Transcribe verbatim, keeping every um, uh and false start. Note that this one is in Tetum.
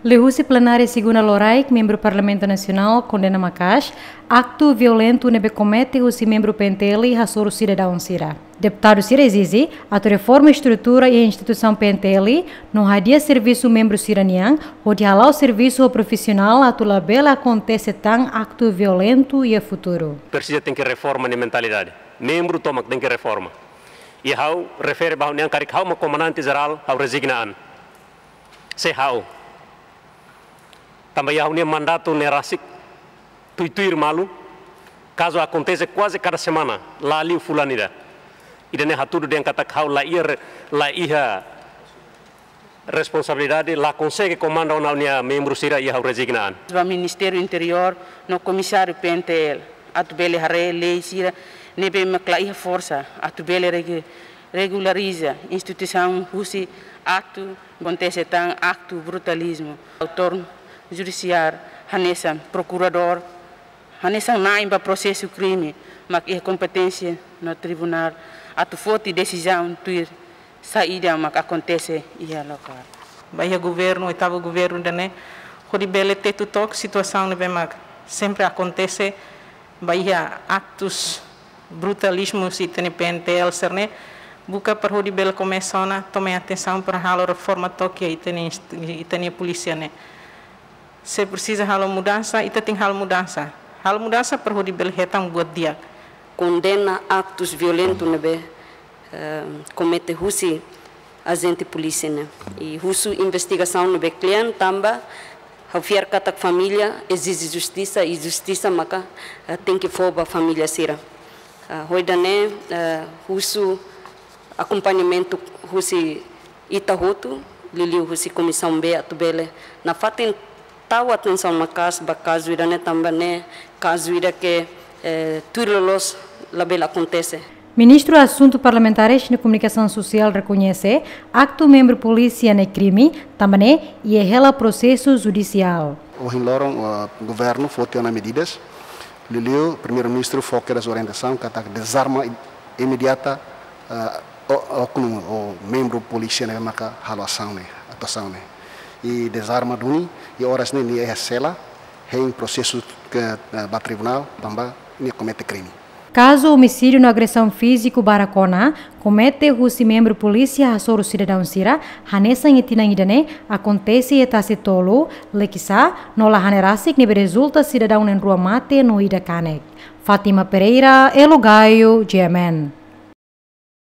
Liuhusi plenária segunda loraik, membru Parlamentu Nasionál kondena maka'as aktu violentu ne'ebé komete husi membru P N T L hasoru sidadaun sira. Deputadu sira ezije atu reforma estrutura iha instituisaun P N T L no hadi'a servisu membru sira-nian, hodi hala'o servisu ho profisionál atu labele akontese tan aktu violentu iha futuru. Presiza tenke reforma nia mentalidade. Membru tomak tenke reforma. I ha'u refere ba ha'u-nian karik ha'u mak komandante jerál, ha'u rezigna an. Se ha'u. Tanba iha ha'u-nia mandatu ne'e rasik tuir-tuir malu, kazu akontese kuaze kada semana, la liu fulan ida. Ida-ne'e hatudu dehan katak ha'u la iha re-, la iha responsabilidade, la konsege komanda ona ha'u-nia membru sira, i ha'u rezigna an. Ba Ministériu Interiór no Komisáriu P N T L atu bele haree lei sira ne'ebé mak la iha forsa atu bele regu-, regulariza instituisaun husi aktu akontese tan aktu brutalizmu. Autór judisiál hanesan prokuradór, hanesan na'in ba prosesu krime, mak iha kompeténsia no tribunál atu foti desizaun tuir saida mak akontese iha lokál. Ba iha governu, oitavu governu ida-ne'e, hodi bele tetu took situasaun ne'ebé mak sempre akontese, ba iha aktus brutalizmu husi ita-nia P N T L sira-ne'e, buka para hodi bele komesa ona toma atensaun para halo reforma took iha ita-nia inst-, ita-nia polísia ne'e. Se presiza halo mudansa, ita tenke halo mudansa. Halo mudansa para hodi bele hetan buat di'ak. Kondena aktus violentu ne'ebé, eh, komete husi ajente polísia ne'e. I husu investigasaun ne'ebé kle'an tanba ha'u fiar katak família ezije justisa i justisa maka, eh, tenke fó ba família sira. Ah, ho ida-ne'e, eh, husu akompañamentu husi ita hotu, liuliu husi Komisaun B atu bele nafatin tau atensaun maka'as ba kazu ida-ne'e tanba ne'e kazu ida ke, eh, tuir loloos labele akontese. Ministru Asuntu Parlamentares no Komunikasaun Sosiál rekoñese aktu membru polísia ne'e krime, tanba ne'e iha hela prosesu judisiál. Ohin loron, eh, governu foti ona medidas, liuliu Primeiru-Ministru fó kedas orientasaun katak dezarma i-, imediata, eh, o-, oknum ou membru polísia ne'ebé maka halo asaun ne'e, atuasaun ne'e. I dezarma duni, i oras ne'e nia iha sela, hein prosesu ke, eh, ba tribunál, tanba nia komete krime. Kazu omisídiu no agresaun fíziku barak ona komete husi membru polísia hasoru sidadaun sira, hanesan iha tinan ida-ne'e akontese iha Tasi Tolu, Likisá, no Lahanerasik ne'ebé rezulta sidadaun na'in-rua mate no ida kanek. Fátima Pereira, Elo Gaio, G M N.